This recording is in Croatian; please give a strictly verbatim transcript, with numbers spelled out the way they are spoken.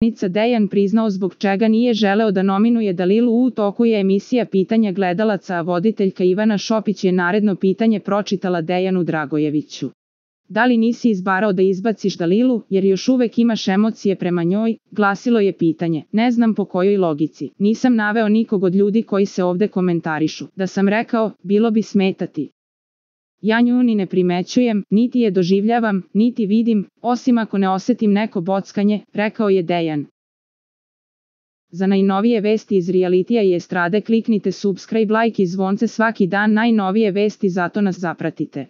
Nica Dejan priznao zbog čega nije želeo da nominuje Dalilu. U toku je emisija Pitanja gledalaca, a voditeljka Ivana Šopić je naredno pitanje pročitala Dejanu Dragojeviću. Da li nisi izbarao da izbaciš Dalilu, jer još uvek imaš emocije prema njoj, glasilo je pitanje. Ne znam po kojoj logici. Nisam naveo nikog od ljudi koji se ovde komentarišu. Da sam rekao, bilo bi smetati. Ja nju ni ne primećujem, niti je doživljavam, niti vidim, osim ako ne osetim neko bockanje, rekao je Dejan. Za najnovije vesti iz realitija i estrade kliknite subscribe, like i zvonce svaki dan. Najnovije vesti, zato nas zapratite.